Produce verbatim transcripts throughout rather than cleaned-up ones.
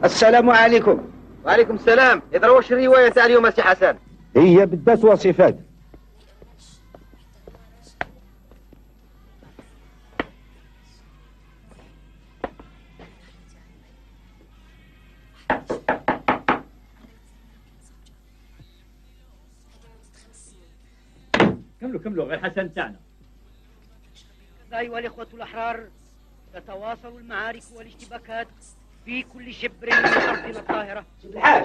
السلام عليكم. وعليكم السلام. إذا واش الرواية تاع اليوم سي حسن؟ هي بدات وصفات. كملوا كملوا غير حسن تاعنا. أيها الإخوة الأحرار، تتواصل المعارك والاشتباكات في كل شبر من أرضنا الطاهرة،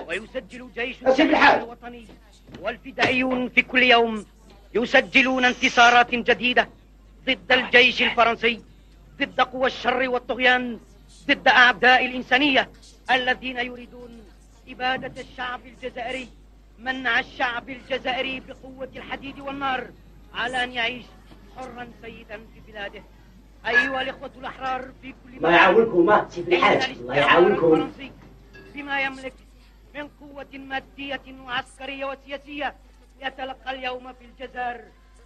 ويسجل جيش الوطني والفدائيون في كل يوم يسجلون انتصارات جديدة ضد الجيش الفرنسي، ضد قوى الشر والطغيان، ضد أعداء الإنسانية الذين يريدون إبادة الشعب الجزائري، منع الشعب الجزائري بقوة الحديد والنار على أن يعيش حرا سيدا في بلاده. أيها الإخوة الأحرار في كل الله يعاونكم ما سيف الحاج، الله يعاونكم. بما يملك من قوة مادية وعسكرية وسياسية يتلقى اليوم في الجزائر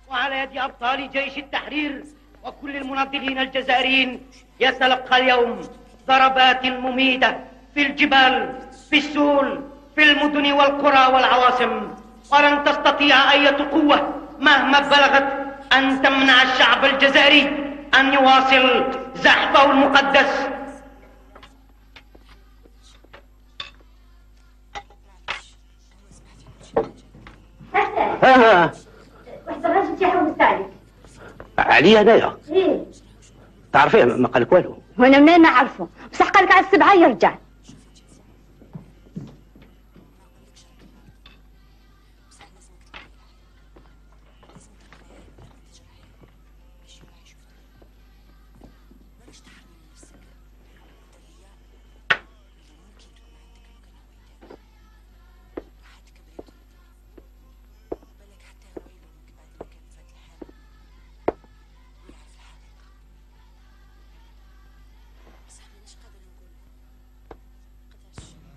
وعلى يد أبطال جيش التحرير وكل المناضلين الجزائريين يتلقى اليوم ضربات مميتة في الجبال، في السهول، في المدن والقرى والعواصم، ولن تستطيع أي قوة مهما بلغت أن تمنع الشعب الجزائري أن يواصل زحفه المقدس. ها ها واحد الراجل تيحوس عليك. عليا انايا؟ ايه. تعرفيه ما قالك والو؟ وانا منين نعرفه؟ بصح قالك على السبعه يرجع.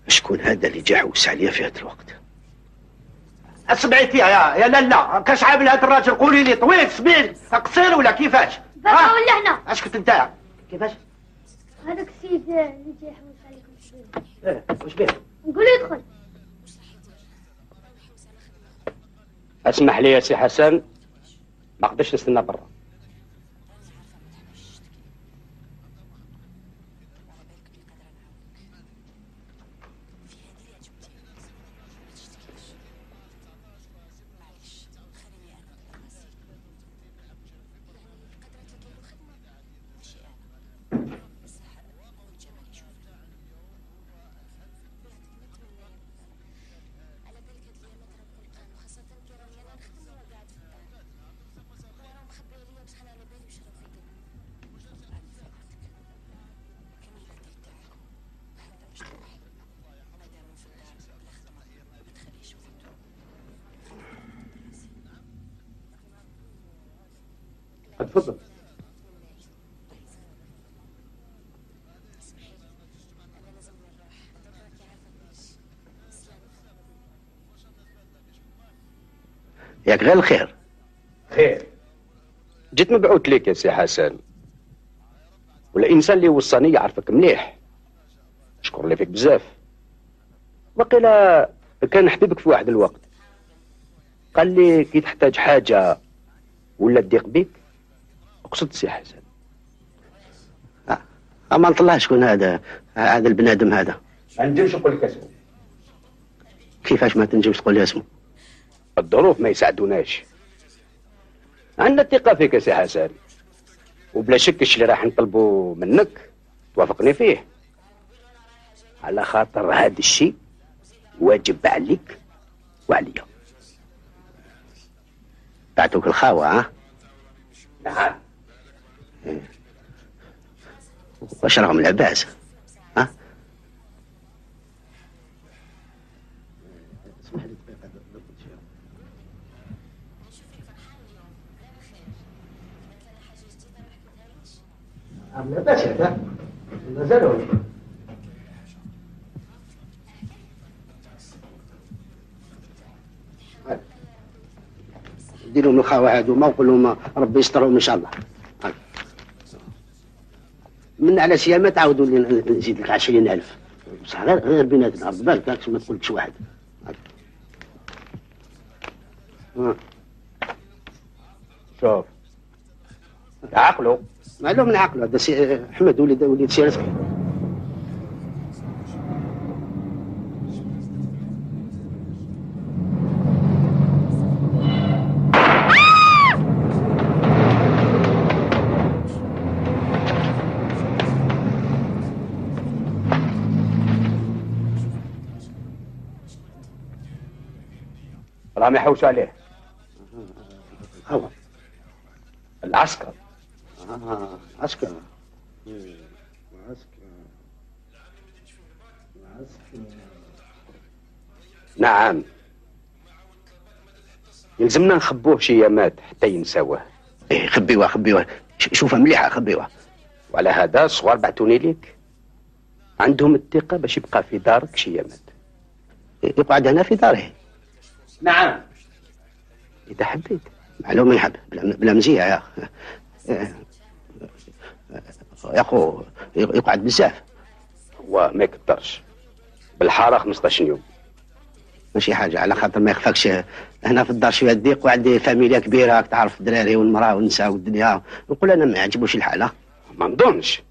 شكون هذا اللي جا حوس عليا في هذا الوقت؟ سمعتي يا يا لالا كاش عامل هذا الراجل؟ قولي لي طويل سمين قصير ولا كيفاش؟ بابا ولا هنا؟ اش كنت نتاع؟ كيفاش؟ هذاك السيد اللي جا يحوس عليكم شويه. ايه واش بيه؟ نقول له يدخل. اسمح لي يا سي حسن، ما قدرتش نستنى برا. تفضل. ياك غير الخير. خير. جيت مبعوث ليك يا سي حسن، والانسان اللي وصاني يعرفك مليح، شكر لي فيك بزاف. وقيلا كان نحببك في واحد الوقت، قال لي كي تحتاج حاجه ولا تضيق بيك اقصد سي حسن. امان الله شكون هذا هذا البنادم هذا؟ ما نجمش نقول لك اسمه. كيفاش ما تنجمش تقول لي اسمه؟ الظروف ما يساعدوناش. عندنا الثقه فيك يا سي حسن، وبلا شك الشيء اللي راح نطلبه منك توافقني فيه، على خاطر هذا الشيء واجب عليك وعليا. بعتوك الخاوه ها؟ نعم. واش راهم العباس؟ ها؟ اسمح لي دقيقة ضبط شوية. العباس هذا مازالوا ديروا لهم الخاوة هذوما وقول لهم ربي يسترهم ان شاء الله. من على سيامة تعاودوا لي نزيد لك عشرين ألف بصح غير غير بيناتنا بالك هاك ما تقولكش واحد. شوف عقلو معلوم من عقله هذا سي احمد وليد وليد سي رزقي. راهم يحوسوا عليه. هو العسكر. اه عسكر. عسكر. عسكر. نعم يلزمنا نخبوه شي يامات حتى ينساوه. ايه خبيوه خبيوه شوفها مليحه خبيوه. وعلى هذا الصغار بعتوني ليك عندهم الثقه باش يبقى في دارك شي يامات. يقعد هنا في داره. نعم اذا حبيت. معلوم يحب بلا مزيه يا يا اخو يقعد بزاف. هو ما يقدرش بالحاره خمسطاش يوم. ماشي حاجه على خاطر ما يخفاكش هنا في الدار شويه ضيق وعندي فاميليا كبيره راك تعرف الدراري والمراه والنساء والدنيا. نقول انا ما يعجبوش الحاله. ما نظنش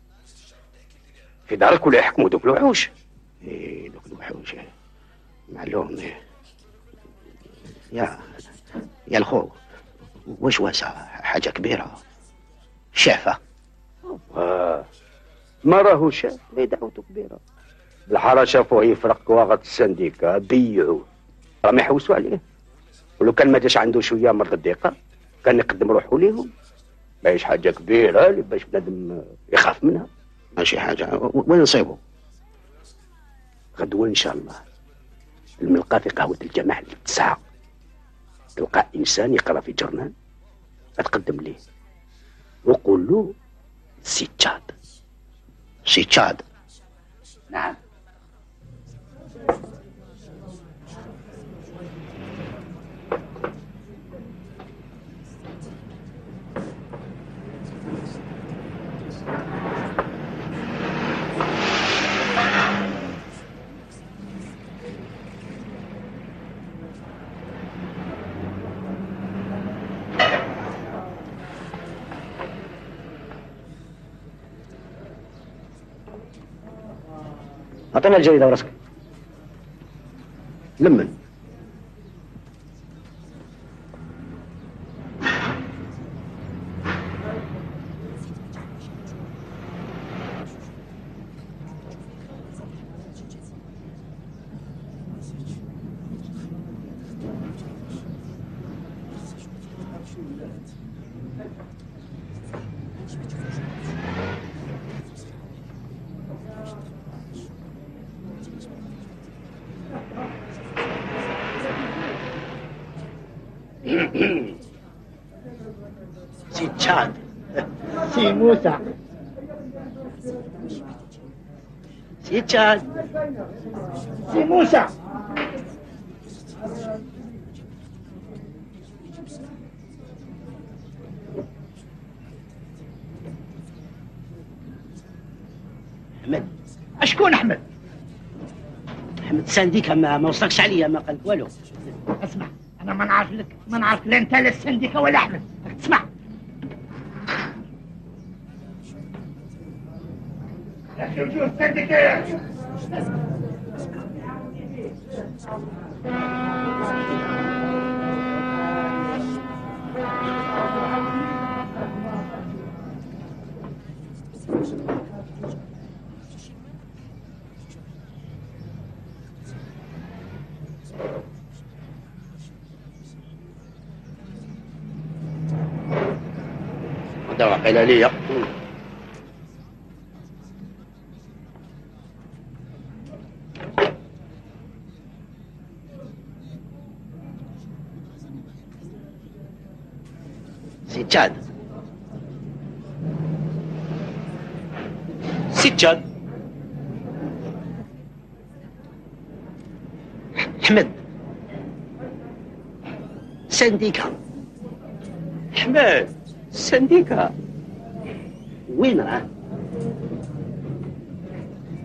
في دارك ولا يحكموا دوك الوحوش. ايه دوك الوحوش معلوم. يا يا الخو واش واسع حاجه كبيره شافه. آه. ما راهو شاف ما دعوته كبيره. بالحاره شافوه يفرق كواغط السنديكا بيعوه راهم يحوسوا عليه. ولو كان ما جاش عنده شويه مرض الضيقه كان يقدم روحه ليهم. ماهيش حاجه كبيره اللي باش بنادم يخاف منها. ماشي حاجه. وين نصيبه؟ غدوه ان شاء الله الملقى في قهوه الجماح التسعه. تلقى انسان يقرا في جرنان تقدم ليه وقول له سي تشاد. سي تشاد. نعم. أعطينا الجريدة وراسك. لمن سي تشاد. سي موسى. سي تشاد. سي موسى. أحمد. شكون أحمد؟ أحمد سانديكا ما, ما وصلكش عليا ما قالك والو. اسمع أنا ما نعرف لك ما نعرف لا أنت لا السنديكا ولا أحمد. اسمع يا أخي وجوه السنديكا يا أخي. هذا وقيل لي. سي تشاد. سي تشاد. أحمد سنديكا. أحمد سنديكا وين راه؟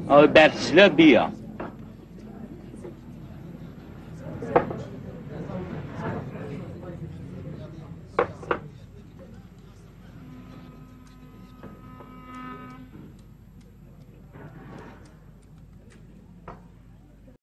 أو بعد الزلابية.